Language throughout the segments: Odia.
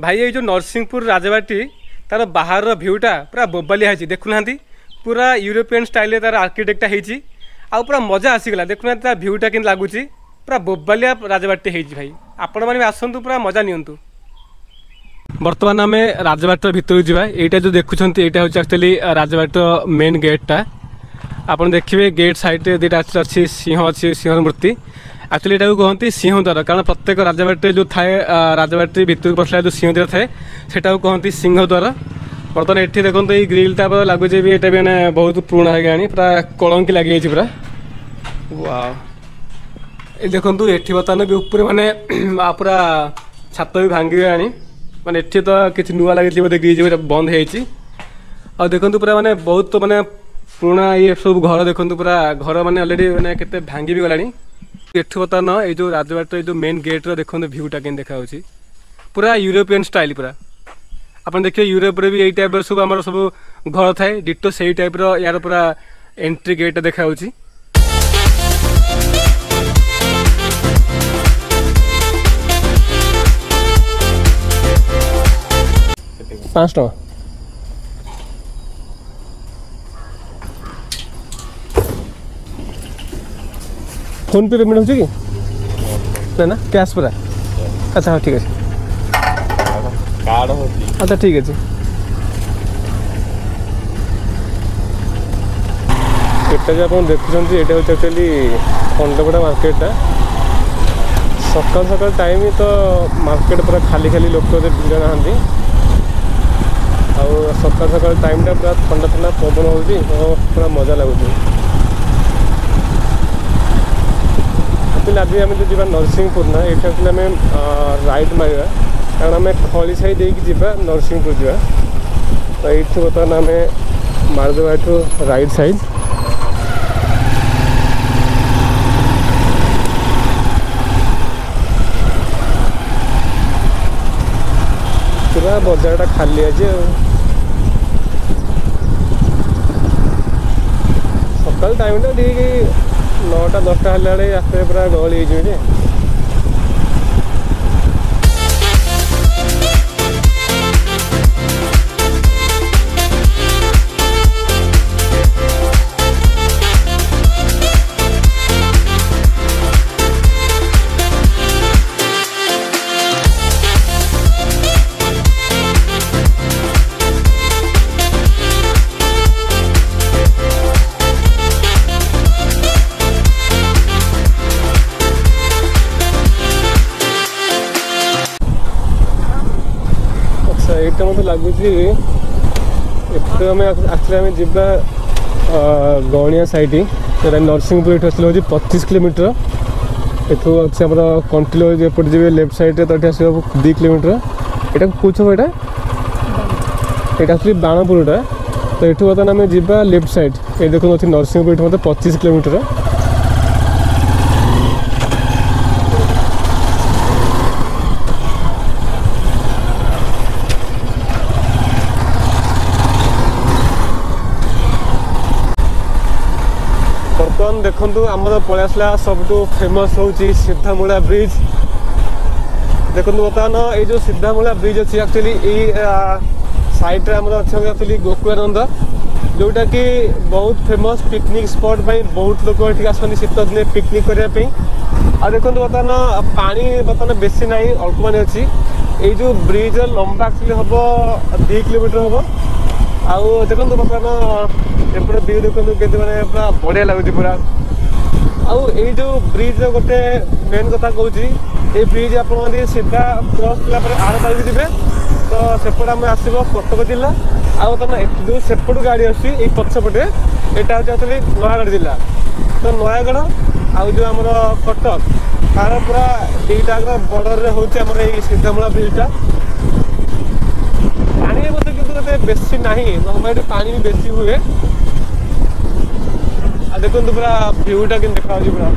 ଭାଇ ଏଇ ଯେଉଁ ନରସିଂହପୁର ରାଜବାଟୀ ତାର ବାହାରର ଭିଉଟା ପୁରା ବୋବାଲିଆ ହେଇଛି, ଦେଖୁନାହାନ୍ତି ପୁରା ୟୁରୋପିଆନ୍ ଷ୍ଟାଇଲ୍ରେ ତାର ଆର୍କିଟେକ୍ଟଟା ହେଇଛି, ଆଉ ପୁରା ମଜା ଆସିଗଲା। ଦେଖୁନାହାନ୍ତି ତା ଭିଉଟା କେମିତି ଲାଗୁଛି, ପୁରା ବୋବାଲିଆ ରାଜବାଟୀ ହେଇଛି ଭାଇ। ଆପଣମାନେ ବି ଆସନ୍ତୁ, ପୁରା ମଜା ନିଅନ୍ତୁ। ବର୍ତ୍ତମାନ ଆମେ ରାଜବାଟର ଭିତରକୁ ଯିବା। ଏଇଟା ଯେଉଁ ଦେଖୁଛନ୍ତି ଏଇଟା ହେଉଛି ଆକ୍ଚୁଆଲି ରାଜବାଟର ମେନ୍ ଗେଟ୍ଟା। ଆପଣ ଦେଖିବେ ଗେଟ୍ ସାଇଡ଼୍ରେ ଦୁଇଟା ଅଛି ସିଂହ ଅଛି, ସିଂହର ମୂର୍ତ୍ତି। ଆକ୍ଚୁଆଲି ଏଟାକୁ କୁହନ୍ତି ସିଂହଦ୍ୱାର, କାରଣ ପ୍ରତ୍ୟେକ ରାଜବାଟୀରେ ଯେଉଁ ଥାଏ, ରାଜବାଟୀ ଭିତରକୁ ପଶିଲା ଯେଉଁ ସିଂହଦ୍ୱାର ଥାଏ ସେଟାକୁ କହନ୍ତି ସିଂହଦ୍ୱାର। ବର୍ତ୍ତମାନ ଏଠି ଦେଖନ୍ତୁ ଏଇ ଗ୍ରିଲ୍ଟା ଲାଗୁଛି ବି ଏଇଟା ବି ମାନେ ବହୁତ ପୁରୁଣା ହେଇଗଲାଣି, ପୁରା କଳଙ୍କି ଲାଗିଯାଇଛି ପୁରା। ୱାଓ, ଏ ଦେଖନ୍ତୁ ଏଠି ବର୍ତ୍ତମାନ ବି ଉପରେ ମାନେ ପୁରା ଛାତ ବି ଭାଙ୍ଗିଗଲାଣି, ମାନେ ଏଠି ତ କିଛି ନୂଆ ଲାଗିଛି ବୋଧେ ଗ୍ରିଲ୍ ବୋଧେ ବନ୍ଦ ହେଇଯାଇଛି। ଆଉ ଦେଖନ୍ତୁ ପୁରା ମାନେ ବହୁତ ମାନେ ପୁରୁଣା ଇଏ ସବୁ ଘର ଦେଖନ୍ତୁ, ପୁରା ଘର ମାନେ ଅଲରେଡ଼ି ମାନେ କେତେ ଭାଙ୍ଗି ବି ଗଲାଣି। ଏଠୁ ବର୍ତ୍ତମାନ ଏଇ ଯେଉଁ ରାଜବାଟର ଏଇ ଯେଉଁ ମେନ୍ ଗେଟ୍ର ଦେଖନ୍ତୁ ଭିଉଟା କେମିତି ଦେଖାଯାଉଛି, ପୁରା ୟୁରୋପିଆନ୍ ଷ୍ଟାଇଲ୍ ପୁରା। ଆପଣ ଦେଖିବେ ୟୁରୋପରେ ବି ଏଇ ଟାଇପ୍ର ସବୁ ଆମର ସବୁ ଘର ଥାଏ, ଡିଟୋ ସେଇ ଟାଇପ୍ର ୟାର ପୁରା ଏଣ୍ଟ୍ରି ଗେଟ୍ଟା ଦେଖାଯାଉଛି। 5 ଟଙ୍କା। ଫୋନ୍ ପେ ପେମେଣ୍ଟ ହେଉଛି କି ନା ନା କ୍ୟାସ୍ ପୁରା? ଆଚ୍ଛା ହଁ ଠିକ୍ ଅଛି। କାର୍ଡ଼ ହେଉଛି। ଆଚ୍ଛା ଠିକ୍ ଅଛି। ଏଟା ଯେ ଆପଣ ଦେଖୁଛନ୍ତି ଏଇଟା ହେଉଛି ଆକ୍ଚୁଆଲି ଖଣ୍ଡପଡ଼ା ମାର୍କେଟଟା। ସକାଳ ସକାଳ ଟାଇମ୍ ତ ମାର୍କେଟ ପୁରା ଖାଲି ଖାଲି, ଲୋକ ଏତେ ଭିଡ଼ ନାହାନ୍ତି। ଆଉ ସକାଳ ସକାଳ ଟାଇମ୍ଟା ପୁରା ଥଣ୍ଡା ଥଣ୍ଡା ପବନ ହେଉଛି, ପୁରା ମଜା ଲାଗୁଛି। ଆକ୍ଚୁଆଲି ଆଜି ଆମେ ଯେଉଁ ଯିବା ନରସିଂହପୁର ନା, ଏଇଠି ଆକ୍ଚୁଆଲି ଆମେ ରାଇଟ୍ ମାରିବା, କାରଣ ଆମେ ଖଳି ସାହି ଦେଇକି ଯିବା ନରସିଂହପୁର ଯିବା। ତ ଏଇଠୁ ବର୍ତ୍ତମାନ ଆମେ ମାରିଦେବା ଏଠୁ ରାଇଟ୍ ସାଇଡ଼୍। ପୁରା ବଜାରଟା ଖାଲି ଆଜି। ଆଉ ସକାଳ ଟାଇମ୍ଟା ଠିକ୍ 9ଟା 10ଟା ହେଲା ବେଳେ ରାସ୍ତାରେ ପୁରା ଗହଳି ହେଇଯିବ ଯେ। ଏଇଟା ମୋତେ ଲାଗୁଛି ଏଠୁ ଆମେ ଆସିଲେ ଆମେ ଯିବା ଗଣିଆ ସାଇଡ଼୍, ସେଇଟା ନରସିଂହପୁର। ଏଠୁ ଆସିଲେ ହେଉଛି 25 କିଲୋମିଟର। ଏଠୁ ଅଛି ଆମର କଣ୍ଟିଲୋ ଏପଟେ ଯିବେ ଲେଫ୍ଟ ସାଇଡ଼୍ରେ ତ ଏଠି ଆସିବ 2 କିଲୋମିଟର। ଏଇଟା କେଉଁ ଛକ? ଏଇଟା ଆକ୍ଚୁଆଲି ବାଣପୁରଟା। ତ ଏଠୁ ବର୍ତ୍ତମାନ ଆମେ ଯିବା ଲେଫ୍ଟ ସାଇଡ଼୍। ଏଇ ଦେଖନ୍ତୁ ଅଛି ନରସିଂହପୁର, ଏଠୁ ମୋତେ 25 କିଲୋମିଟର। ବର୍ତ୍ତମାନ ଦେଖନ୍ତୁ ଆମର ପଳେଇ ଆସିଲା ସବୁଠୁ ଫେମସ୍ ହେଉଛି ସିଧାମୂଳା ବ୍ରିଜ୍। ଦେଖନ୍ତୁ ବର୍ତ୍ତମାନ ଏଇ ଯେଉଁ ସିଧାମୂଳା ବ୍ରିଜ୍ ଅଛି ଆକ୍ଚୁଆଲି ଏଇ ସାଇଡ଼୍ରେ ଆମର ଅଛି ଆକ୍ଚୁଆଲି ଗୋକୁଳାନନ୍ଦ, ଯେଉଁଟାକି ବହୁତ ଫେମସ୍ ପିକନିକ୍ ସ୍ପଟ୍ ପାଇଁ ବହୁତ ଲୋକ ଏଠିକି ଆସନ୍ତି ଶୀତ ଦିନେ ପିକନିକ୍ କରିବା ପାଇଁ। ଆଉ ଦେଖନ୍ତୁ ବର୍ତ୍ତମାନ ପାଣି ବର୍ତ୍ତମାନ ବେଶୀ ନାହିଁ, ଅଳ୍ପ ପାଣି ଅଛି। ଏଇ ଯେଉଁ ବ୍ରିଜ୍ର ଲମ୍ବା ଆକ୍ଚୁଆଲି ହେବ 2 କିଲୋମିଟର ହେବ। ଆଉ ଦେଖନ୍ତୁ ବର୍ତ୍ତମାନ ଏପଟେ ଭିଉ ଦେଖନ୍ତୁ କେମିତି ମାନେ ପୁରା ବଢ଼ିଆ ଲାଗୁଛି ପୁରା। ଆଉ ଏଇ ଯେଉଁ ବ୍ରିଜ୍ର ଗୋଟେ ମେନ୍ କଥା କହୁଛି, ଏଇ ବ୍ରିଜ୍ ଆପଣ ଯଦି ସିଧା କ୍ରସ୍ କଲା ପରେ ଆର ପାରିକି ଯିବେ ତ ସେପଟେ ଆମେ ଆସିବ କଟକ ଜିଲ୍ଲା। ଆଉ ବର୍ତ୍ତମାନ ଯେଉଁ ସେପଟୁ ଗାଡ଼ି ଆସୁଛି ଏଇ ପଛପଟେ, ଏଇଟା ହେଉଛି ଆକ୍ଚୁଆଲି ନୟାଗଡ଼ ଜିଲ୍ଲା। ତ ନୟାଗଡ଼ ଆଉ ଯେଉଁ ଆମର କଟକ ତାର ପୁରା ଦୁଇଟାଙ୍କର ବର୍ଡ଼ରରେ ହେଉଛି ଆମର ଏଇ ସିଧାମୂଳା ବ୍ରିଜ୍ଟା। ପାଣି ମଧ୍ୟ କିନ୍ତୁ ଏତେ ବେଶୀ ନାହିଁ, ନର୍ମାଲି ଏଠି ପାଣି ବି ବେଶୀ ହୁଏ। ଆଉ ଦେଖନ୍ତୁ ପୁରା ଭିଉଟା କେମିତି ଦେଖାଯାଉଛି, ପୁରା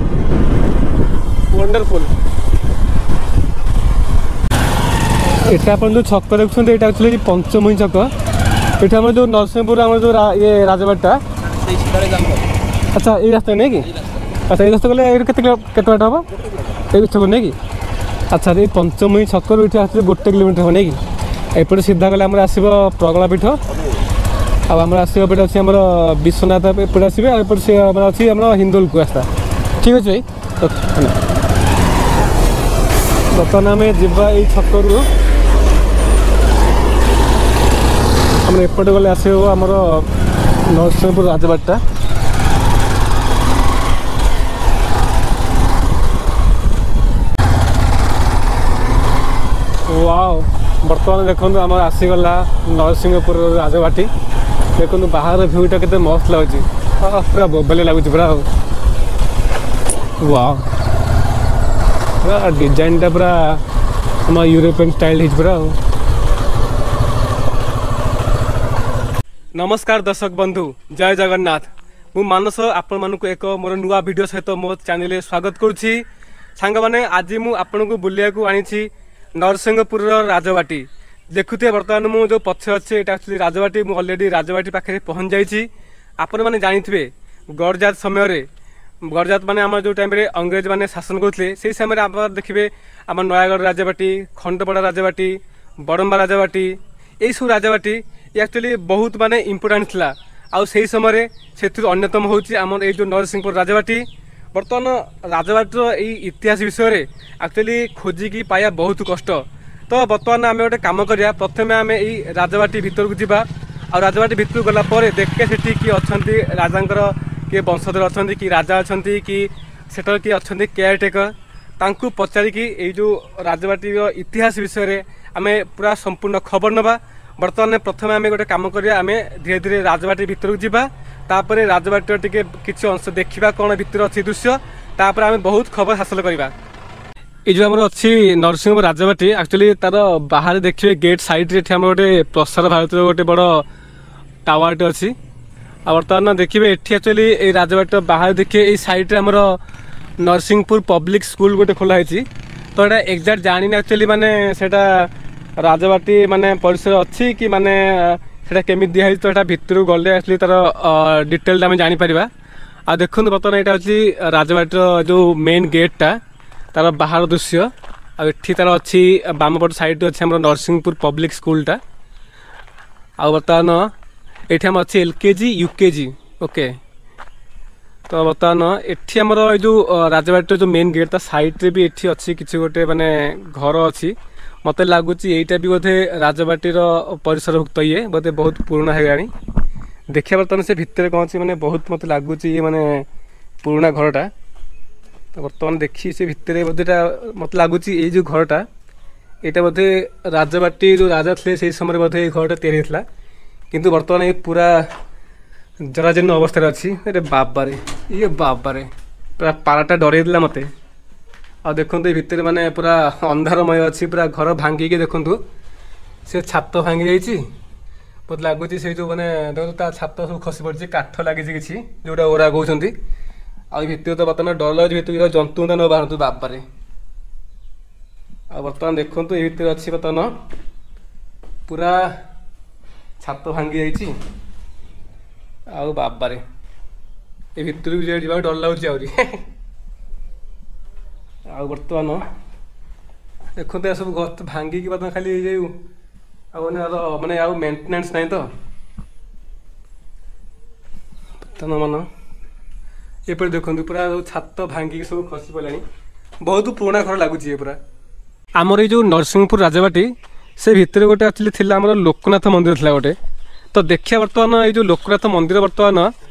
ୱଣ୍ଡରଫୁଲ୍। ଏଟା ଆପଣ ଯେଉଁ ଛକ ଦେଖୁଛନ୍ତି ଏଇଟା ଆକ୍ଚୁଆଲି ପଞ୍ଚମୁହିଁ ଛକ। ଏଠି ଆମର ଯେଉଁ ନରସିଂହପୁର ଆମର ଯେଉଁ ଇଏ ରାଜବାଟୀଟା, ଆଚ୍ଛା ଏଇ ରାସ୍ତା ନାଇଁ କି? ଆଚ୍ଛା ଏଇ ରାସ୍ତା ଗଲେ ଏଇଠୁ କେତେ ବାଟ ହେବ? ଏଇ ଛକ ନାଇଁ କି? ଆଚ୍ଛା ଏଇ ପଞ୍ଚମୁହିଁ ଛକରୁ ଏଠି ଆସିଲେ 1 କିଲୋମିଟର ହେବ ନାଇଁ କି? ଏପଟେ ସିଧା ଗଲେ ଆମର ଆସିବ ପ୍ରଗଳା ପୀଠ, ଆଉ ଆମର ଆସିବ ଏପଟେ ଅଛି ଆମର ବିଶ୍ୱନାଥ, ଏପଟେ ଆସିବେ। ଆଉ ଏପଟେ ସେ ଆମର ଅଛି ଆମର ହିନ୍ଦୋଲକୁ ରାସ୍ତା। ଠିକ୍ ଅଛି ଭାଇ, ବର୍ତ୍ତମାନ ଆମେ ଯିବା ଏଇ ଛକରୁ ଆମର ଏପଟେ ଗଲେ ଆସିବ ଆମର ନରସିଂହପୁର ରାଜବାଟୀଟା। ୱାଓ, ବର୍ତ୍ତମାନ ଦେଖନ୍ତୁ ଆମର ଆସିଗଲା ନରସିଂହପୁର ରାଜବାଟୀ। ଦେଖନ୍ତୁ ବାହାର ଭ୍ୟୁଟା କେତେ ମସ୍ତ ଲାଗୁଛି, ପୁରା ବୋବାଲି ଲାଗୁଛି ପୁରା। ଆଉ ୱାଓ, ପୁରା ଡିଜାଇନଟା ପୁରା ଆମ ୟୁରୋପିଆନ୍ ଷ୍ଟାଇଲ୍ ହେଇଛି ପୁରା। ଆଉ ନମସ୍କାର ଦର୍ଶକ ବନ୍ଧୁ, ଜୟ ଜଗନ୍ନାଥ। ମୁଁ ମାନସ ଆପଣମାନଙ୍କୁ ଏକ ମୋର ନୂଆ ଭିଡ଼ିଓ ସହିତ ମୋ ଚ୍ୟାନେଲରେ ସ୍ୱାଗତ କରୁଛି। ସାଙ୍ଗମାନେ, ଆଜି ମୁଁ ଆପଣଙ୍କୁ ବୁଲିବାକୁ ଆଣିଛି ନରସିଂହପୁରର ରାଜବାଟୀ। ଦେଖୁଥିବେ ବର୍ତ୍ତମାନ ମୁଁ ଯେଉଁ ପଛରେ ଅଛି ଏଇଟା ଆକ୍ଚୁଆଲି ରାଜବାଟୀ। ମୁଁ ଅଲରେଡ଼ି ରାଜବାଟୀ ପାଖରେ ପହଞ୍ଚି ଯାଇଛି। ଆପଣମାନେ ଜାଣିଥିବେ ଗଡ଼ଜାତ ସମୟରେ, ଗଡ଼ଜାତ ମାନେ ଆମର ଯେଉଁ ଟାଇମ୍ରେ ଅଂଗ୍ରେଜମାନେ ଶାସନ କରୁଥିଲେ, ସେଇ ସମୟରେ ଆପଣ ଦେଖିବେ ଆମ ନୟାଗଡ଼ ରାଜବାଟୀ, ଖଣ୍ଡପଡ଼ା ରାଜବାଟୀ, ବଡ଼ମ୍ବା ରାଜବାଟୀ, ଏଇସବୁ ରାଜବାଟୀ ଆକ୍ଚୁଆଲି ବହୁତ ମାନେ ଇମ୍ପୋର୍ଟାଣ୍ଟ ଥିଲା। ଆଉ ସେଇ ସମୟରେ ସେଥିରୁ ଅନ୍ୟତମ ହେଉଛି ଆମର ଏଇ ଯେଉଁ ନରସିଂହପୁର ରାଜବାଟୀ। ବର୍ତ୍ତମାନ ରାଜବାଟୀର ଏଇ ଇତିହାସ ବିଷୟରେ ଆକ୍ଚୁଆଲି ଖୋଜିକି ପାଇବା ବହୁତ କଷ୍ଟ। ତ ବର୍ତ୍ତମାନ ଆମେ ଗୋଟେ କାମ କରିବା, ପ୍ରଥମେ ଆମେ ଏଇ ରାଜବାଟୀ ଭିତରକୁ ଯିବା। ଆଉ ରାଜବାଟୀ ଭିତରକୁ ଗଲା ପରେ ଦେଖିବା ସେଠି କିଏ ଅଛନ୍ତି, ରାଜାଙ୍କର କିଏ ବଂଶଧର ଅଛନ୍ତି କି ରାଜା ଅଛନ୍ତି କି ସେଠାରେ କିଏ ଅଛନ୍ତି କେୟାର ଟେକର, ତାଙ୍କୁ ପଚାରିକି ଏଇ ଯେଉଁ ରାଜବାଟୀର ଇତିହାସ ବିଷୟରେ ଆମେ ପୁରା ସମ୍ପୂର୍ଣ୍ଣ ଖବର ନେବା। ବର୍ତ୍ତମାନ ପ୍ରଥମେ ଆମେ ଗୋଟେ କାମ କରିବା, ଆମେ ଧୀରେ ଧୀରେ ରାଜବାଟୀ ଭିତରକୁ ଯିବା, ତାପରେ ରାଜବାଟୀର ଟିକେ କିଛି ଅଂଶ ଦେଖିବା କ'ଣ ଭିତରେ ଅଛି ଦୃଶ୍ୟ, ତାପରେ ଆମେ ବହୁତ ଖବର ହାସଲ କରିବା। ଏଇ ଯେଉଁ ଆମର ଅଛି ନରସିଂହପୁର ରାଜବାଟୀ, ଆକ୍ଚୁଆଲି ତାର ବାହାରେ ଦେଖିବେ ଗେଟ୍ ସାଇଡ଼୍ରେ ଏଠି ଆମର ଗୋଟେ ପ୍ରସାର ଭାରତୀର ଗୋଟେ ବଡ଼ ଟାୱାରଟେ ଅଛି। ଆଉ ବର୍ତ୍ତମାନ ଦେଖିବେ ଏଠି ଆକ୍ଚୁଆଲି ଏଇ ରାଜବାଟୀର ବାହାରେ ଦେଖିବେ ଏଇ ସାଇଡ଼୍ରେ ଆମର ନରସିଂହପୁର ପବ୍ଲିକ୍ ସ୍କୁଲ ଗୋଟେ ଖୋଲା ହେଇଛି। ତ ଏଇଟା ଏକ୍ଜାକ୍ଟ ଜାଣିନି ଆକ୍ଚୁଆଲି ମାନେ ସେଇଟା ରାଜବାଟୀ ମାନେ ପରିସର ଅଛି କି ମାନେ ସେଇଟା କେମିତି ଦିଆହେଇଛି, ତ ଏଇଟା ଭିତରକୁ ଗଲେ ଆକ୍ଚୁଆଲି ତାର ଡିଟେଲଟା ଆମେ ଜାଣିପାରିବା। ଆଉ ଦେଖନ୍ତୁ ବର୍ତ୍ତମାନ ଏଇଟା ହେଉଛି ରାଜବାଟୀର ଯେଉଁ ମେନ୍ ଗେଟ୍ଟା, ତାର ବାହାର ଦୃଶ୍ୟ। ଆଉ ଏଠି ତାର ଅଛି ବାମପଟ ସାଇଡ଼୍ରେ ଅଛି ଆମର ନରସିଂହପୁର ପବ୍ଲିକ୍ ସ୍କୁଲଟା। ଆଉ ବର୍ତ୍ତମାନ ଏଠି ଆମର ଅଛି LKG UKG, okay. ତ ବର୍ତ୍ତମାନ ଏଠି ଆମର ଏଇ ଯେଉଁ ରାଜବାଟୀର ଯେଉଁ ମେନ୍ ଗେଟ୍ ତା ସାଇଡ଼୍ରେ ବି ଏଠି ଅଛି କିଛି ଗୋଟେ ମାନେ ଘର ଅଛି। ମୋତେ ଲାଗୁଛି ଏଇଟା ବି ବୋଧେ ରାଜବାଟୀର ପରିସରଭୁକ୍ତ, ଇଏ ବୋଧେ ବହୁତ ପୁରୁଣା ହେଇଗଲାଣି। ଦେଖିବା ବର୍ତ୍ତମାନ ସେ ଭିତରେ କ'ଣ ଅଛି, ମାନେ ବହୁତ ମୋତେ ଲାଗୁଛି ଇଏ ମାନେ ପୁରୁଣା ଘରଟା। ତ ବର୍ତ୍ତମାନ ଦେଖି ସେ ଭିତରେ ବୋଧେ ଏଇଟା ମୋତେ ଲାଗୁଛି ଏଇ ଯେଉଁ ଘରଟା ଏଇଟା ବୋଧେ ରାଜବାଟୀ ଯେଉଁ ରାଜା ଥିଲେ ସେଇ ସମୟରେ ବୋଧେ ଏଇ ଘରଟା ତିଆରି ହେଇଥିଲା, କିନ୍ତୁ ବର୍ତ୍ତମାନ ଏ ପୁରା ଜରାଜୀର୍ଣ୍ଣ ଅବସ୍ଥାରେ ଅଛି। ଆରେ ବାବାରେ, ଇଏ ବାବାରେ, ପୁରା ପାରାଟା ଡରେଇ ଦେଲା ମୋତେ। ଆଉ ଦେଖନ୍ତୁ ଏ ଭିତରେ ମାନେ ପୁରା ଅନ୍ଧାରମୟ ଅଛି, ପୁରା ଘର ଭାଙ୍ଗିକି ଦେଖନ୍ତୁ ସେ ଛାତ ଭାଙ୍ଗି ଯାଇଛି ମୋତେ ଲାଗୁଛି। ସେଇ ଯେଉଁ ମାନେ ଦେଖନ୍ତୁ ତା ଛାତ ସବୁ ଖସି ପଡ଼ିଛି, କାଠ ଲାଗିଛି କିଛି ଯେଉଁଟା ଓରା କହୁଛନ୍ତି। ଆଉ ଭିତରେ ତ ବର୍ତ୍ତମାନ ଡର ଲାଗୁଛି, ଭିତରକୁ ଜନ୍ତୁ ନ ବାହାରନ୍ତୁ ବାବାରେ। ଆଉ ବର୍ତ୍ତମାନ ଦେଖନ୍ତୁ ଏ ଭିତରେ ଅଛି ବର୍ତ୍ତମାନ ପୁରା ଛାତ ଭାଙ୍ଗି ଯାଇଛି। ଆଉ ବାବାରେ ଏ ଭିତରକୁ ଯିବାକୁ ଡର ଲାଗୁଛି ଆହୁରି। ଆଉ ବର୍ତ୍ତମାନ ଦେଖନ୍ତୁ ଏ ସବୁ ଗଛ ଭାଙ୍ଗିକି ବର୍ତ୍ତମାନ ଖାଲି ଏଇ ଆଉ ମାନେ ମାନେ ଆଉ ମେଣ୍ଟେନାନ୍ସ ନାହିଁ ତ ବର୍ତ୍ତମାନ ମାନ ଏପଟେ ଦେଖନ୍ତୁ ପୁରା ଛାତ ଭାଙ୍ଗିକି ସବୁ ଖସି ପଡ଼ିଲାଣି। ବହୁତ ପୁରୁଣା ଘର ଲାଗୁଛି ଏ ପୁରା। ଆମର ଏଇ ଯେଉଁ ନରସିଂହପୁର ରାଜବାଟୀ ସେ ଭିତରେ ଗୋଟେ ଆକ୍ଚୁଆଲି ଥିଲା ଆମର ଲୋକନାଥ ମନ୍ଦିର ଥିଲା ଗୋଟେ। ତ ଦେଖିବା ବର୍ତ୍ତମାନ ଏଇ ଯେଉଁ ଲୋକନାଥ ମନ୍ଦିର ବର୍ତ୍ତମାନ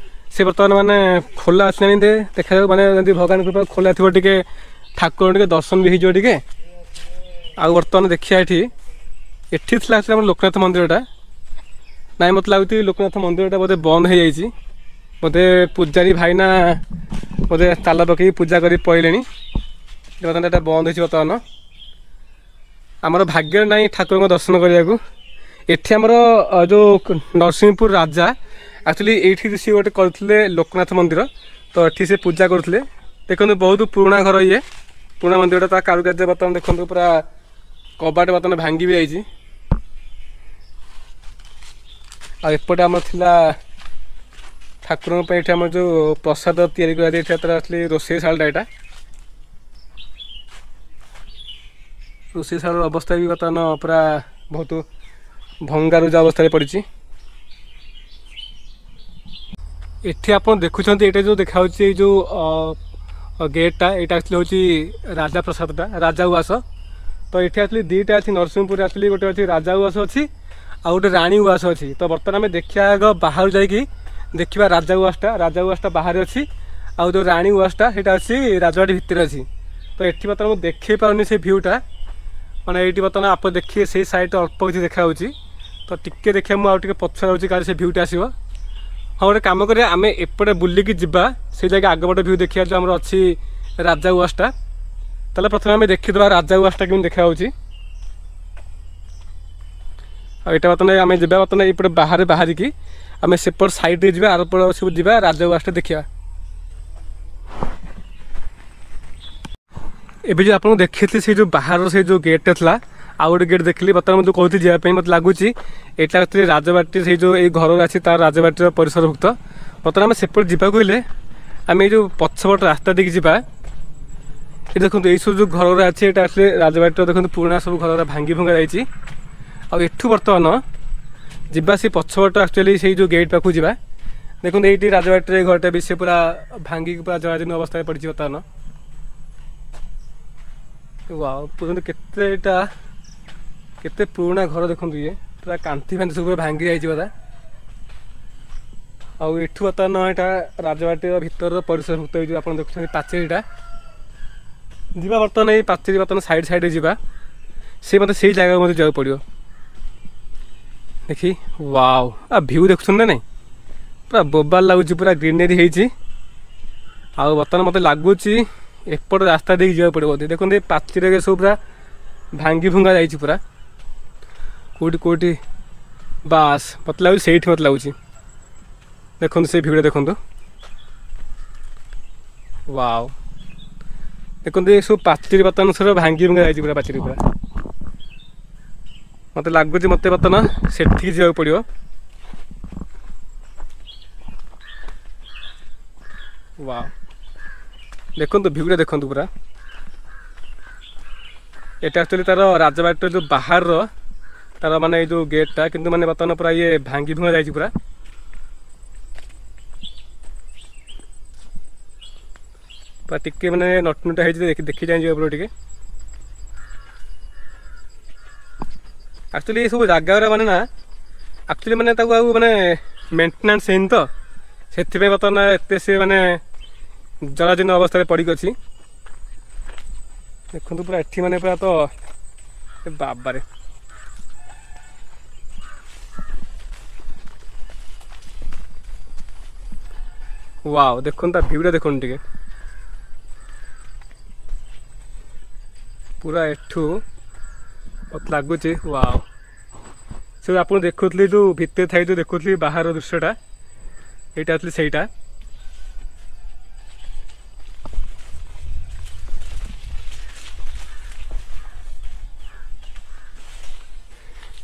ସେ ବର୍ତ୍ତମାନ ମାନେ ଖୋଲା ଅଛି ନା ଦେଖାଯାଉ, ମାନେ ଯଦି ଭଗବାନ କୃପା ଖୋଲା ଥିବ ଟିକେ ଠାକୁର ଟିକେ ଦର୍ଶନ ବି ହେଇଯିବ ଟିକେ। ଆଉ ବର୍ତ୍ତମାନ ଦେଖିବା ଏଠି ଏଠି ଥିଲା ଆକ୍ଚୁଆଲି ଆମର ଲୋକନାଥ ମନ୍ଦିରଟା। ନାଇଁ ମୋତେ ଲାଗୁଛି ଲୋକନାଥ ମନ୍ଦିରଟା ବୋଧେ ବନ୍ଦ ହେଇଯାଇଛି, ବୋଧେ ପୂଜାରୀ ଭାଇନା ବୋଧେ ତାଲା ପକେଇକି ପୂଜା କରି ପଳେଇଲେଣି। ବର୍ତ୍ତମାନ ଏଇଟା ବନ୍ଦ ହେଇଛି। ବର୍ତ୍ତମାନ ଆମର ଭାଗ୍ୟରେ ନାହିଁ ଠାକୁରଙ୍କ ଦର୍ଶନ କରିବାକୁ। ଏଠି ଆମର ଯେଉଁ ନରସିଂହପୁର ରାଜା ଆକ୍ଚୁଆଲି ଏଇଠି ସିଏ ଗୋଟେ କରିଥିଲେ ଲୋକନାଥ ମନ୍ଦିର, ତ ଏଠି ସେ ପୂଜା କରୁଥିଲେ। ଦେଖନ୍ତୁ ବହୁତ ପୁରୁଣା ଘର ଇଏ, ପୁରୁଣା ମନ୍ଦିରଟା। ତା କାରୁକାର୍ଯ୍ୟ ବର୍ତ୍ତମାନ ଦେଖନ୍ତୁ ପୁରା କବାଟ ବର୍ତ୍ତମାନ ଭାଙ୍ଗି ବି ଯାଇଛି। ଆଉ ଏପଟେ ଆମର ଥିଲା ଠାକୁରଙ୍କ ପାଇଁ ଏଠି ଆମର ଯେଉଁ ପ୍ରସାଦ ତିଆରି କରାଯାଇଥିଲା ତାର ଆକ୍ଚୁଆଲି ରୋଷେଇ ଶାଳଟା। ଏଇଟା ରୋଷେଇ ଶାଳର ଅବସ୍ଥା ବି ବର୍ତ୍ତମାନ ପୁରା ବହୁତ ଭଙ୍ଗାରୁଜା ଅବସ୍ଥାରେ ପଡ଼ିଛି। ଏଠି ଆପଣ ଦେଖୁଛନ୍ତି ଏଇଟା ଯେଉଁ ଦେଖାହେଉଛି ଏଇ ଯେଉଁ ଗେଟ୍ଟା, ଏଇଟା ଆକ୍ଚୁଆଲି ହେଉଛି ରାଜା ପ୍ରସାଦଟା, ରାଜା ଉଆସ। ତ ଏଠି ଆକ୍ଚୁଆଲି ଦୁଇଟା ଅଛି ନରସିଂହପୁରରେ, ଆକ୍ଚୁଆଲି ଗୋଟେ ଅଛି ରାଜା ଉଆସ ଅଛି ଆଉ ଗୋଟେ ରାଣୀ ଉଆସ ଅଛି। ତ ବର୍ତ୍ତମାନ ଆମେ ଦେଖିବା ଆଗ ବାହାରୁ ଯାଇକି ଦେଖିବା ରାଜା ଉଆସଟା। ରାଜା ଉଆସଟା ବାହାରେ ଅଛି ଆଉ ଯେଉଁ ରାଣୀ ଉଆସଟା ସେଇଟା ଅଛି ରାଜବାଟୀ ଭିତରେ ଅଛି। ତ ଏଠି ବର୍ତ୍ତମାନ ମୁଁ ଦେଖେଇ ପାରୁନି ସେ ଭ୍ୟୁଟା, ମାନେ ଏଇଠି ବର୍ତ୍ତମାନ ଆପଣ ଦେଖିବେ ସେଇ ସାଇଡ଼୍ରେ ଅଳ୍ପ କିଛି ଦେଖାହେଉଛି। ତ ଟିକେ ଦେଖିବା, ମୁଁ ଆଉ ଟିକେ ପଛୁଆ ଯାଉଛି କାଳେ ସେ ଭ୍ୟୁଟା ଆସିବ। ହଁ, ଗୋଟେ କାମ କରିବା, ଆମେ ଏପଟେ ବୁଲିକି ଯିବା ସେଇ ଜାଗା ଆଗପଟେ ଭ୍ୟୁ ଦେଖିବା ଯେଉଁ ଆମର ଅଛି ରାଜା ଉଆସଟା। ତାହେଲେ ପ୍ରଥମେ ଆମେ ଦେଖିଦେବା ରାଜା ଉଆସଟା କେମିତି ଦେଖାହେଉଛି। ଆଉ ଏଇଟା ବର୍ତ୍ତମାନ ଆମେ ଯିବା, ବର୍ତ୍ତମାନ ଏଇପଟେ ବାହାରେ ବାହାରିକି ଆମେ ସେପଟ ସାଇଡ଼୍ରେ ଯିବା, ଆରପଟ ସବୁ ଯିବା ରାଜା ଉଆସଟା ଦେଖିବା। ଏବେ ଯେଉଁ ଆପଣଙ୍କୁ ଦେଖିଥିଲି ସେଇ ଯେଉଁ ବାହାରର ସେଇ ଯେଉଁ ଗେଟ୍ଟା ଥିଲା, ଆଉ ଗୋଟେ ଗେଟ୍ ଦେଖିଲି ବର୍ତ୍ତମାନ ମୁଁ ଯେଉଁ କହୁଥିଲି ଯିବା ପାଇଁ, ମୋତେ ଲାଗୁଛି ଏଇଟା ଆକ୍ଚୁଆଲି ରାଜବାଟୀ ସେଇ ଯେଉଁ ଏଇ ଘର ଅଛି ତାର ରାଜବାଟୀର ପରିସରଭୁକ୍ତ। ବର୍ତ୍ତମାନ ଆମେ ସେପଟେ ଯିବାକୁ ହେଲେ ଆମେ ଏଇ ଯେଉଁ ପଛପଟ ରାସ୍ତା ଦେଇକି ଯିବା। ଏଠି ଦେଖନ୍ତୁ ଏଇସବୁ ଯେଉଁ ଘରଗୁଡ଼ା ଅଛି ଏଇଟା ଆକ୍ଚୁଆଲି ରାଜବାଟୀର, ଦେଖନ୍ତୁ ପୁରୁଣା ସବୁ ଘରଗୁଡ଼ା ଭାଙ୍ଗି ଭଙ୍ଗା ଯାଇଛି। ଆଉ ଏଠୁ ବର୍ତ୍ତମାନ ଯିବା ସେ ପଛପଟ ଆକ୍ଚୁଆଲି ସେଇ ଯେଉଁ ଗେଟ୍ ପାଖକୁ ଯିବା। ଦେଖନ୍ତୁ ଏଇଠି ରାଜବାଟୀର ଏଇ ଘରଟା ବି ସେ ପୁରା ଭାଙ୍ଗିକି ପୁରା ଜରାଜୀର୍ଣ୍ଣ ଅବସ୍ଥାରେ ପଡ଼ିଛି ବର୍ତ୍ତମାନ। ୱାଓ, ଦେଖନ୍ତୁ କେତେ ଏଇଟା କେତେ ପୁରୁଣା ଘର, ଦେଖନ୍ତୁ ଇଏ ପୁରା କାନ୍ଥି ଫାନ୍ଥି ସବୁ ପୁରା ଭାଙ୍ଗି ଯାଇଛି ବୋଧେ। ଆଉ ଏଠୁ ବର୍ତ୍ତମାନ ଏଇଟା ରାଜବାଟୀର ଭିତରର ପରିସରଭୁକ୍ତ ହେଇଯିବ। ଆପଣ ଦେଖୁଛନ୍ତି ପାଚେରୀଟା, ଯିବା ବର୍ତ୍ତମାନ ଏଇ ପାଚେରୀ ବର୍ତ୍ତମାନ ସାଇଡ଼୍ ସାଇଡ଼୍ରେ ଯିବା, ସେ ମୋତେ ସେଇ ଜାଗାକୁ ମୋତେ ଯିବାକୁ ପଡ଼ିବ। ଦେଖି ୱାଓ, ଆ ଭ୍ୟୁ ଦେଖୁଛନ୍ତି ନା ନାଇଁ, ପୁରା ବୋବାଲ ଲାଗୁଛି, ପୁରା ଗ୍ରିନେରୀ ହେଇଛି। ଆଉ ବର୍ତ୍ତମାନ ମୋତେ ଲାଗୁଛି ଏପଟ ରାସ୍ତା ଦେଇକି ଯିବାକୁ ପଡ଼ିବ ବୋଧେ। ଦେଖନ୍ତୁ ଏ ପାଚେରୀରେ ସବୁ ପୁରା ଭାଙ୍ଗି ଭୁଙ୍ଗା ଯାଇଛି ପୁରା, କେଉଁଠି କେଉଁଠି ବାସ୍ ମୋତେ ଲାଗୁଛି ସେଇଠି ମୋତେ ଲାଗୁଛି। ଦେଖନ୍ତୁ ସେଇ ଭିଉଟା ଦେଖନ୍ତୁ, ୱାଓ, ଦେଖନ୍ତୁ ଏ ସବୁ ପାଚେରୀ ବର୍ତ୍ତମାନ ସବୁ ଭାଙ୍ଗି ଭୁଙ୍ଗା ଯାଇଛି ପୁରା ପାଚେରୀ ପୁରା। ମୋତେ ଲାଗୁଛି ମୋତେ ବର୍ତ୍ତମାନ ସେଠିକି ଯିବାକୁ ପଡ଼ିବ। ୱାଓ, ଦେଖନ୍ତୁ ଭିଉଟା ଦେଖନ୍ତୁ ପୁରା। ଏଇଟା ଆକ୍ଚୁଆଲି ତାର ରାଜବାଟୀର ଯେଉଁ ବାହାରର ତାର ମାନେ ଏଇ ଯେଉଁ ଗେଟ୍ଟା, କିନ୍ତୁ ମାନେ ବର୍ତ୍ତମାନ ପୁରା ଇଏ ଭାଙ୍ଗି ଭୁଙ୍ଗା ଯାଇଛି ପୁରା। ପୁରା ଟିକେ ମାନେ ନଟନଟା ହେଇଛି, ଦେଖି ଯାଇ ଯିବାକୁ ପଡ଼ିବ ଟିକେ। ଆକ୍ଚୁଆଲି ଏସବୁ ଜାଗା ଗୁଡ଼ା ମାନେ ନା ଆକ୍ଚୁଆଲି ମାନେ ତାକୁ ଆଉ ମାନେ ମେଣ୍ଟେନାନ୍ସ ହେଇନି ତ, ସେଥିପାଇଁ ବର୍ତ୍ତମାନ ଏତେ ସେ ମାନେ ଜରାଜୀର୍ଣ୍ଣ ଅବସ୍ଥାରେ ପଡ଼ିକି ଅଛି। ଦେଖନ୍ତୁ ପୁରା ଏଠି ମାନେ ପୁରା ତ ଏ ବାବାରେ, ୱାଓ, ଦେଖନ୍ତୁ ତା ଭିଉଟା ଦେଖନ୍ତୁ ଟିକେ ପୁରା ଏଠୁ ମତେ ଲାଗୁଛି ୱାଓ। ସେ ଆପଣ ଦେଖୁଥିଲି ଯେଉଁ ଭିତରେ ଥାଇ ଯେଉଁ ଦେଖୁଥିଲି ବାହାର ଦୃଶ୍ୟଟା, ଏଇଟା ଆକ୍ଚୁଆଲି ସେଇଟା।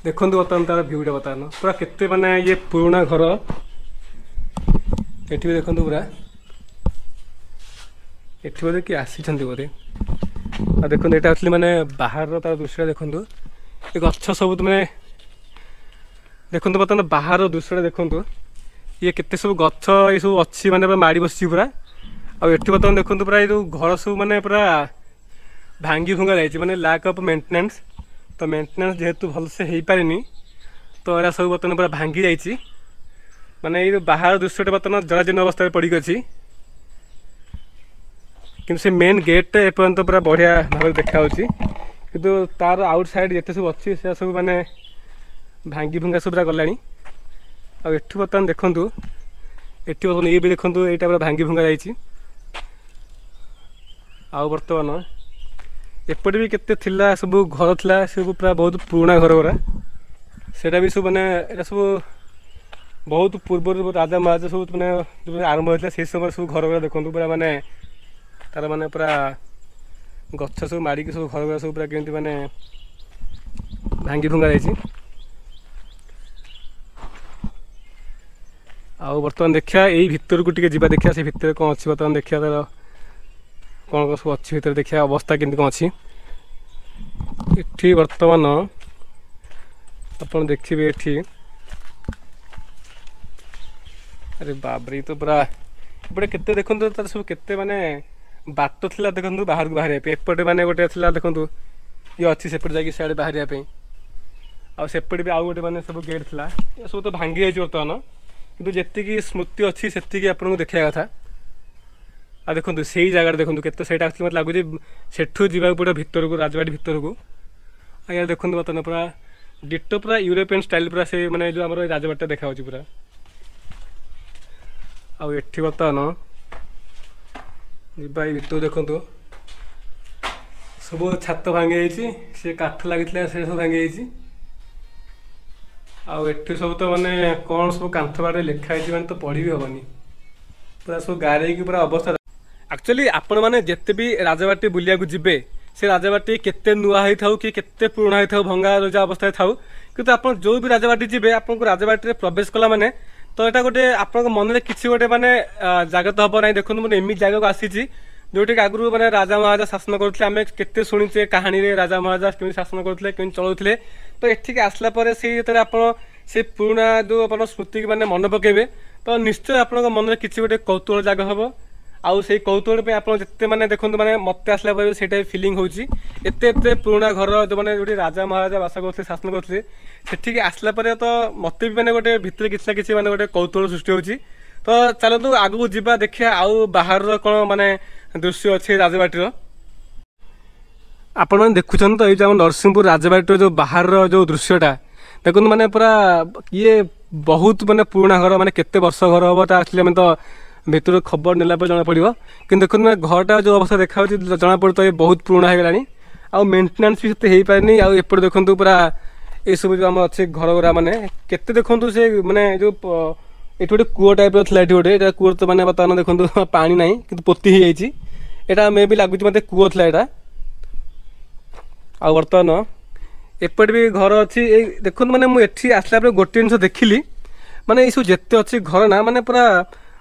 ଦେଖନ୍ତୁ ବର୍ତ୍ତମାନ ତାର ଭିଉଟା ବର୍ତ୍ତମାନ ପୁରା କେତେ ମାନେ ଇଏ ପୁରୁଣା ଘର। ଏଠି ବି ଦେଖନ୍ତୁ ପୁରା ଏଠି ବୋଧେ କିଏ ଆସିଛନ୍ତି ବୋଧେ। ଆଉ ଦେଖନ୍ତୁ ଏଇଟା ଆକ୍ଚୁଆଲି ମାନେ ବାହାରର ତାର ଦୃଶ୍ୟଟା ଦେଖନ୍ତୁ, ଏ ଗଛ ସବୁ ମାନେ ଦେଖନ୍ତୁ ବର୍ତ୍ତମାନ ବାହାର ଦୃଶ୍ୟଟା ଦେଖନ୍ତୁ, ଇଏ କେତେ ସବୁ ଗଛ ଏସବୁ ଅଛି ମାନେ ପୁରା ମାଡ଼ି ବସିଛି ପୁରା। ଆଉ ଏଠି ବର୍ତ୍ତମାନ ଦେଖନ୍ତୁ ପୁରା ଏଇ ଯେଉଁ ଘର ସବୁ ମାନେ ପୁରା ଭାଙ୍ଗି ଭୁଙ୍ଗା ଯାଇଛି, ମାନେ ଲ୍ୟାକ୍ ଅଫ୍ ମେଣ୍ଟେନାନ୍ସ। ତ ମେଣ୍ଟେନାନ୍ସ ଯେହେତୁ ଭଲସେ ହେଇପାରିନି ତ ଏରା ସବୁ ବର୍ତ୍ତମାନ ପୁରା ଭାଙ୍ଗି ଯାଇଛି। ମାନେ ଏଇ ଯେଉଁ ବାହାର ଦୃଶ୍ୟଟା ବର୍ତ୍ତମାନ ଜରାଜୀର୍ଣ୍ଣ ଅବସ୍ଥାରେ ପଡ଼ିକି ଅଛି, କିନ୍ତୁ ସେ ମେନ୍ ଗେଟ୍ଟା ଏପର୍ଯ୍ୟନ୍ତ ପୁରା ବଢ଼ିଆ ଭାବରେ ଦେଖାଯାଉଛି। କିନ୍ତୁ ତାର ଆଉଟ୍ ସାଇଡ଼୍ ଯେତେ ସବୁ ଅଛି ସେଟା ସବୁ ମାନେ ଭାଙ୍ଗି ଭୁଙ୍ଗା ସବୁ ପୁରା ଗଲାଣି। ଆଉ ଏଠୁ ବର୍ତ୍ତମାନ ଦେଖନ୍ତୁ, ଏଠି ବର୍ତ୍ତମାନ ଇଏ ବି ଦେଖନ୍ତୁ ଏଇଟା ପୁରା ଭାଙ୍ଗି ଭୁଙ୍ଗା ଯାଇଛି। ଆଉ ବର୍ତ୍ତମାନ ଏପଟେ ବି କେତେ ଥିଲା ସବୁ ଘର ଥିଲା, ସବୁ ପୁରା ବହୁତ ପୁରୁଣା ଘର ଗୁଡ଼ା, ସେଇଟା ବି ସବୁ ମାନେ ଏଇଟା ସବୁ ବହୁତ ପୂର୍ବରୁ ରାଜା ମହାରାଜା ସବୁ ମାନେ ଯୋଉ ଆରମ୍ଭ ହେଇଥିଲା ସେଇ ସମୟରେ ସବୁ ଘର ଗୁଡ଼ା ଦେଖନ୍ତୁ ପୁରା ମାନେ ତାର ମାନେ ପୁରା ଗଛ ସବୁ ମାଡ଼ିକି ସବୁ ଘର ଗୁଡ଼ା ସବୁ ପୁରା କେମିତି ମାନେ ଭାଙ୍ଗି ଭୁଙ୍ଗା ଯାଇଛି। ଆଉ ବର୍ତ୍ତମାନ ଦେଖିବା ଏଇ ଭିତରକୁ ଟିକେ ଯିବା, ଦେଖିବା ସେ ଭିତରେ କ'ଣ ଅଛି। ବର୍ତ୍ତମାନ ଦେଖିବା ତାର କ'ଣ କ'ଣ ସବୁ ଅଛି ଭିତରେ, ଦେଖିବା ଅବସ୍ଥା କେମିତି କ'ଣ ଅଛି। ଏଠି ବର୍ତ୍ତମାନ ଆପଣ ଦେଖିବେ ଏଠି। ଆରେ ବାବରେ, ତ ପୁରା ଏପଟେ କେତେ ଦେଖନ୍ତୁ, ତାର ସବୁ କେତେ ମାନେ ବାଟ ଥିଲା ଦେଖନ୍ତୁ ବାହାରକୁ ବାହାରିବା ପାଇଁ। ଏପଟେ ମାନେ ଗୋଟେ ଥିଲା ଦେଖନ୍ତୁ, ଇଏ ଅଛି ସେପଟେ ଯାଇକି ସିଆଡ଼େ ବାହାରିବା ପାଇଁ। ଆଉ ସେପଟେ ବି ଆଉ ଗୋଟେ ମାନେ ସବୁ ଗେଟ୍ ଥିଲା, ଏସବୁ ତ ଭାଙ୍ଗି ଯାଇଛି ବର୍ତ୍ତମାନ, କିନ୍ତୁ ଯେତିକି ସ୍ମୃତି ଅଛି ସେତିକି ଆପଣଙ୍କୁ ଦେଖିବା କଥା। ଆଉ ଦେଖନ୍ତୁ ସେଇ ଜାଗାରେ ଦେଖନ୍ତୁ କେତେ ସେଇଟା ଆକ୍ଚୁଆଲି ମୋତେ ଲାଗୁଛି ସେଠୁ ଯିବାକୁ ପଡ଼ିବ ଭିତରକୁ, ରାଜବାଡ଼ି ଭିତରକୁ। ଆଉ ଇଆଡ଼େ ଦେଖନ୍ତୁ ବର୍ତ୍ତମାନ ପୁରା ଡିଟୋ ପୁରା ୟୁରୋପିଆନ୍ ଷ୍ଟାଇଲ୍ ପୁରା ସେ ମାନେ ଯେଉଁ ଆମର ରାଜବାଡ଼ିଟା ଦେଖାଯାଉଛି ପୁରା। ଆଉ ଏଠି ବର୍ତ୍ତମାନ ଯିବା ଏଇ ଭିତରକୁ, ଦେଖନ୍ତୁ ସବୁ ଛାତ ଭାଙ୍ଗି ଯାଇଛି, ସେ କାଠ ଲାଗିଥିଲା ସେ ସବୁ ଭାଙ୍ଗି ଯାଇଛି। ଆଉ ଏଠି ସବୁ ତ ମାନେ କ'ଣ ସବୁ କାନ୍ଥ ବାଡ଼ରେ ଲେଖା ହେଇଛି ମାନେ ତ ପଢ଼ି ବି ହେବନି, ପୁରା ସବୁ ଗାରେଇକି ପୁରା ଅବସ୍ଥା। ଆକ୍ଚୁଆଲି ଆପଣମାନେ ଯେତେ ବି ରାଜବାଟୀ ବୁଲିବାକୁ ଯିବେ, ସେ ରାଜବାଟୀ କେତେ ନୂଆ ହେଇଥାଉ କି କେତେ ପୁରୁଣା ହେଇଥାଉ, ଭଙ୍ଗା ରଜା ଅବସ୍ଥାରେ ଥାଉ, କିନ୍ତୁ ଆପଣ ଯେଉଁ ବି ରାଜବାଟୀ ଯିବେ, ଆପଣଙ୍କୁ ରାଜବାଟୀରେ ପ୍ରବେଶ କଲା ମାନେ ତ ଏଇଟା ଗୋଟେ ଆପଣଙ୍କ ମନରେ କିଛି ଗୋଟେ ମାନେ ଜାଗ୍ରତ ହେବ ନାହିଁ। ଦେଖନ୍ତୁ ମୁଁ ଏମିତି ଜାଗାକୁ ଆସିଛି ଯେଉଁଠିକି ଆଗରୁ ମାନେ ରାଜା ମହାରାଜା ଶାସନ କରୁଥିଲେ। ଆମେ କେତେ ଶୁଣିଛେ କାହାଣୀରେ ରାଜା ମହାରାଜା କେମିତି ଶାସନ କରୁଥିଲେ, କେମିତି ଚଳାଉଥିଲେ। ତ ଏଠିକି ଆସିଲା ପରେ ସେଇ ଯେତେବେଳେ ଆପଣ ସେ ପୁରୁଣା ଯେଉଁ ଆପଣ ସ୍ମୃତିକି ମାନେ ମନେ ପକାଇବେ, ତ ନିଶ୍ଚୟ ଆପଣଙ୍କ ମନରେ କିଛି ଗୋଟେ କୌତୁହଳ ଜାଗ ହେବ। ଆଉ ସେଇ କୌତୁହଳ ପାଇଁ ଆପଣ ଯେତେ ମାନେ ଦେଖନ୍ତୁ, ମାନେ ମୋତେ ଆସିଲା ପରେ ସେଇଟା ଫିଲିଂ ହେଉଛି, ଏତେ ଏତେ ପୁରୁଣା ଘର ଯେଉଁମାନେ ଯେଉଁଠି ରାଜା ମହାରାଜା ବାସ କରୁଥିଲେ, ଶାସନ କରୁଥିଲେ, ସେଠିକି ଆସିଲା ପରେ ତ ମୋତେ ବି ମାନେ ଗୋଟେ ଭିତରେ କିଛି ନା କିଛି ମାନେ ଗୋଟେ କୌତୁହଳ ସୃଷ୍ଟି ହେଉଛି। ତ ଚାଲନ୍ତୁ ଆଗକୁ ଯିବା, ଦେଖିବା ଆଉ ବାହାରର କ'ଣ ମାନେ ଦୃଶ୍ୟ ଅଛି ରାଜବାଟୀର। ଆପଣମାନେ ଦେଖୁଛନ୍ତି ତ ଏଇ ଯେଉଁ ଆମ ନରସିଂହପୁର ରାଜବାଟୀର ଯେଉଁ ବାହାରର ଯେଉଁ ଦୃଶ୍ୟଟା ଦେଖନ୍ତୁ, ମାନେ ପୁରା ଇଏ ବହୁତ ମାନେ ପୁରୁଣା ଘର, ମାନେ କେତେ ବର୍ଷ ଘର ହେବ ତା ଆସିଲେ ଆମେ ତ ଭିତରୁ ଖବର ନେଲା ପରେ ଜଣାପଡ଼ିବ। କିନ୍ତୁ ଦେଖନ୍ତୁ ମାନେ ଘରଟା ଯେଉଁ ଅବସ୍ଥା ଦେଖାଯାଉଛି, ଜଣାପଡ଼ୁ ତ ଇଏ ବହୁତ ପୁରୁଣା ହେଇଗଲାଣି, ଆଉ ମେଣ୍ଟେନାନ୍ସ ବି ସେତେ ହେଇପାରିନି। ଆଉ ଏପଟେ ଦେଖନ୍ତୁ ପୁରା ଏସବୁ ଯେଉଁ ଆମର ଅଛି ଘର ଗୁଡ଼ା, ମାନେ କେତେ ଦେଖନ୍ତୁ ସେ ମାନେ ଯେଉଁ ଏଠି ଗୋଟେ କୂଅ ଟାଇପ୍ର ଥିଲା, ଏଠି ଗୋଟେ ଏଇଟା କୂଅ ତ ମାନେ ବର୍ତ୍ତମାନ ଦେଖନ୍ତୁ ପାଣି ନାହିଁ, କିନ୍ତୁ ପୋତି ହେଇଯାଇଛି। ଏଇଟା ମେ ବି ଲାଗୁଛି ମୋତେ କୂଅ ଥିଲା ଏଇଟା। ଆଉ ବର୍ତ୍ତମାନ ଏପଟେ ବି ଘର ଅଛି। ଏଇ ଦେଖନ୍ତୁ ମାନେ ମୁଁ ଏଠି ଆସିଲା ପରେ ଗୋଟେ ଜିନିଷ ଦେଖିଲି, ମାନେ ଏଇସବୁ ଯେତେ ଅଛି ଘର ନା ମାନେ ପୁରା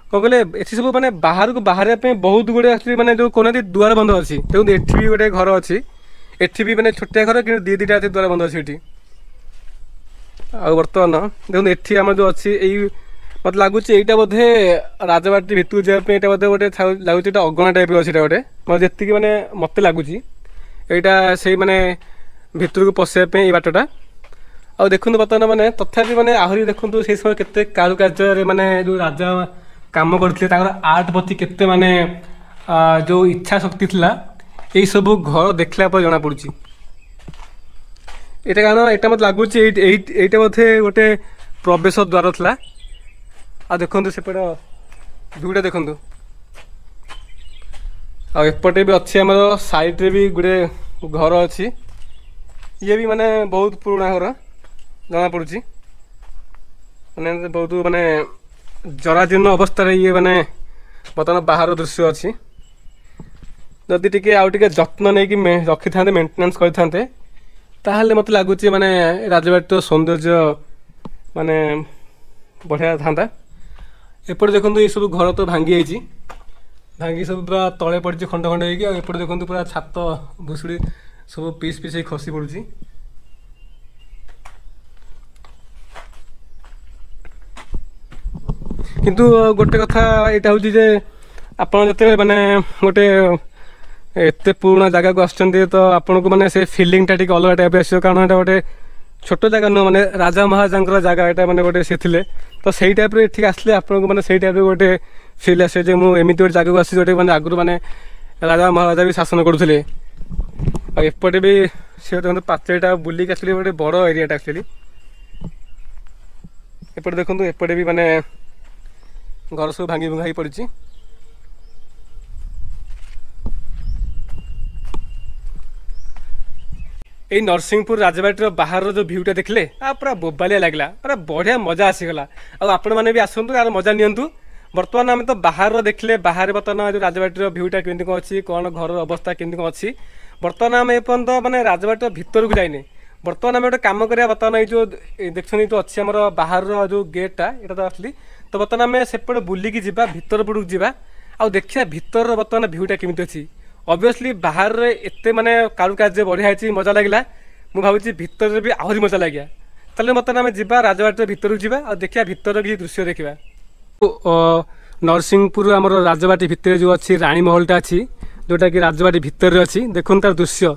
କ'ଣ କହିଲେ ଏଠି ସବୁ ମାନେ ବାହାରକୁ ବାହାରିବା ପାଇଁ ବହୁତ ଗୁଡ଼ିଏ ଆକ୍ଚୁଆଲି ମାନେ ଯେଉଁ କହୁନାହାନ୍ତି ଦୁଆର ବନ୍ଧ ଅଛି। ଦେଖନ୍ତୁ ଏଠି ବି ଗୋଟେ ଘର ଅଛି, ଏଠି ବି ମାନେ ଛୋଟିଆ ଘର କିନ୍ତୁ ଦୁଇ ଦୁଇଟା ଅଛି ଦୁଆର ବନ୍ଧ ଅଛି ଏଠି। ଆଉ ବର୍ତ୍ତମାନ ଦେଖନ୍ତୁ ଏଠି ଆମର ଯେଉଁ ଅଛି ଏଇ ମୋତେ ଲାଗୁଛି ଏଇଟା ବୋଧେ ରାଜବାଟୀ ଭିତରକୁ ଯିବା ପାଇଁ ଏଇଟା ବୋଧେ ଗୋଟେ ଲାଗୁଛି ଏଇଟା ଅଗଣା ଟାଇପ୍ର ଅଛି ଏଇଟା ଗୋଟେ, ମୋତେ ଯେତିକି ମାନେ ମୋତେ ଲାଗୁଛି ଏଇଟା ସେଇ ମାନେ ଭିତରକୁ ପଶିବା ପାଇଁ ଏଇ ବାଟଟା। ଆଉ ଦେଖନ୍ତୁ ବର୍ତ୍ତମାନ ମାନେ ତଥାପି ମାନେ ଆହୁରି ଦେଖନ୍ତୁ ସେଇ ସମୟ କେତେ କାରୁକାର୍ଯ୍ୟରେ ମାନେ ଯେଉଁ ରାଜା କାମ କରିଥିଲେ, ତାଙ୍କର ଆର୍ଟ ପ୍ରତି କେତେ ମାନେ ଯେଉଁ ଇଚ୍ଛା ଶକ୍ତି ଥିଲା, ଏଇସବୁ ଘର ଦେଖିଲା ପରେ ଜଣାପଡ଼ୁଛି ଏଇଟା। କାରଣ ଏଇଟା ମୋତେ ଲାଗୁଛି ଏଇଟା ବୋଧେ ଗୋଟେ ପ୍ରବେଶ ଦ୍ୱାର ଥିଲା। ଆଉ ଦେଖନ୍ତୁ ସେପଟ ଭିଉଟା ଦେଖନ୍ତୁ। ଆଉ ଏପଟେ ବି ଅଛି ଆମର ସାଇଡ଼୍ରେ ବି ଗୋଟେ ଘର ଅଛି, ଇଏ ବି ମାନେ ବହୁତ ପୁରୁଣା ଘର ଜଣାପଡ଼ୁଛି, ମାନେ ବହୁତ ମାନେ ଜରାଜୀର୍ଣ୍ଣ ଅବସ୍ଥାରେ ଇଏ ମାନେ ବର୍ତ୍ତମାନ ବାହାର ଦୃଶ୍ୟ ଅଛି। ଯଦି ଟିକେ ଆଉ ଟିକେ ଯତ୍ନ ନେଇକି ରଖିଥାନ୍ତେ, ମେଣ୍ଟେନାନ୍ସ କରିଥାନ୍ତେ, ତାହେଲେ ମୋତେ ଲାଗୁଛି ମାନେ ରାଜବାଟୀର ସୌନ୍ଦର୍ଯ୍ୟ ମାନେ ବଢ଼ିଆ ଥାନ୍ତା। ଏପଟେ ଦେଖନ୍ତୁ ଏସବୁ ଘର ତ ଭାଙ୍ଗି ଯାଇଛି, ଭାଙ୍ଗି ସବୁ ପୁରା ତଳେ ପଡ଼ିଛି ଖଣ୍ଡ ଖଣ୍ଡ ହେଇକି। ଆଉ ଏପଟେ ଦେଖନ୍ତୁ ପୁରା ଛାତ ଭୁଷୁଡ଼ି ସବୁ ପିସ୍ ପିସ୍ ହେଇ ଖସି ପଡ଼ୁଛି। କିନ୍ତୁ ଗୋଟେ କଥା ଏଇଟା ହେଉଛି ଯେ ଆପଣ ଯେତେବେଳେ ମାନେ ଗୋଟେ ଏତେ ପୁରୁଣା ଜାଗାକୁ ଆସୁଛନ୍ତି, ତ ଆପଣଙ୍କୁ ମାନେ ସେ ଫିଲିଂଟା ଟିକେ ଅଲଗା ଟାଇପ୍ର ଆସିବ। କାରଣ ଏଇଟା ଗୋଟେ ଛୋଟ ଜାଗା ନୁହଁ, ମାନେ ରାଜା ମହାରାଜାଙ୍କର ଜାଗା ଏଇଟା, ମାନେ ଗୋଟେ ସେ ଥିଲେ, ତ ସେଇ ଟାଇପ୍ର ଏଠିକି ଆସିଲେ ଆପଣଙ୍କୁ ମାନେ ସେଇ ଟାଇପ୍ର ଗୋଟେ ଫିଲ୍ ଆସିବ ଯେ ମୁଁ ଏମିତି ଗୋଟେ ଜାଗାକୁ ଆସିଛି ଯେଉଁଠି ମାନେ ଆଗରୁ ମାନେ ରାଜା ମହାରାଜା ବି ଶାସନ କରୁଥିଲେ। ଆଉ ଏପଟେ ବି ସେ ଦେଖନ୍ତୁ ପାଚେରୀଟା ବୁଲିକି ଆସିଲେ ଗୋଟେ ବଡ଼ ଏରିଆଟା ଆକ୍ଚୁଆଲି। ଏପଟେ ଦେଖନ୍ତୁ ଏପଟେ ବି ମାନେ ଘର ସବୁ ଭାଙ୍ଗି ଭୁଙ୍ଗା ହେଇ ପଡ଼ିଛି। ଏଇ ନରସିଂହପୁର ରାଜବାଟୀର ବାହାରର ଯେଉଁ ଭିଉଟା ଦେଖିଲେ ଆ ପୁରା ବୋବାଲିଆ ଲାଗିଲା, ପୁରା ବଢ଼ିଆ ମଜା ଆସିଗଲା। ଆଉ ଆପଣମାନେ ବି ଆସନ୍ତୁ ଆର ମଜା ନିଅନ୍ତୁ। ବର୍ତ୍ତମାନ ଆମେ ତ ବାହାରର ଦେଖିଲେ, ବାହାରେ ବର୍ତ୍ତମାନ ଯେଉଁ ରାଜବାଟୀର ଭିଉଟା କେମିତି କ'ଣ ଅଛି, କ'ଣ ଘରର ଅବସ୍ଥା କେମିତି କ'ଣ ଅଛି। ବର୍ତ୍ତମାନ ଆମେ ଏପର୍ଯ୍ୟନ୍ତ ମାନେ ରାଜବାଟୀର ଭିତରକୁ ଯାଇନେ। ବର୍ତ୍ତମାନ ଆମେ ଗୋଟେ କାମ କରିବା, ବର୍ତ୍ତମାନ ଏଇ ଯେଉଁ ଦେଖୁଛନ୍ତି ଯେଉଁ ଅଛି ଆମର ବାହାରର ଯେଉଁ ଗେଟ୍ଟା, ଏଇଟା ତ ଆସିଲି, ତ ବର୍ତ୍ତମାନ ଆମେ ସେପଟେ ବୁଲିକି ଯିବା, ଭିତର ପଟକୁ ଯିବା ଆଉ ଦେଖିବା ଭିତରର ବର୍ତ୍ତମାନ ଭିଉଟା କେମିତି ଅଛି। ଅବଭିୟସଲି ବାହାରରେ ଏତେ ମାନେ କାରୁକାର୍ଯ୍ୟ ବଢ଼ିଆ ହେଇଛି, ମଜା ଲାଗିଲା। ମୁଁ ଭାବୁଛି ଭିତରରେ ବି ଆହୁରି ମଜା ଲାଗିବ। ତାହେଲେ ବର୍ତ୍ତମାନ ଆମେ ଯିବା ରାଜବାଟୀର ଭିତରକୁ ଯିବା ଆଉ ଦେଖିବା ଭିତରର କିଛି ଦୃଶ୍ୟ ଦେଖିବା। ନରସିଂହପୁର ଆମର ରାଜବାଟୀ ଭିତରେ ଯେଉଁ ଅଛି ରାଣୀ ମହଲଟା ଅଛି, ଯେଉଁଟାକି ରାଜବାଟୀ ଭିତରେ ଅଛି, ଦେଖନ୍ତୁ ତାର ଦୃଶ୍ୟ।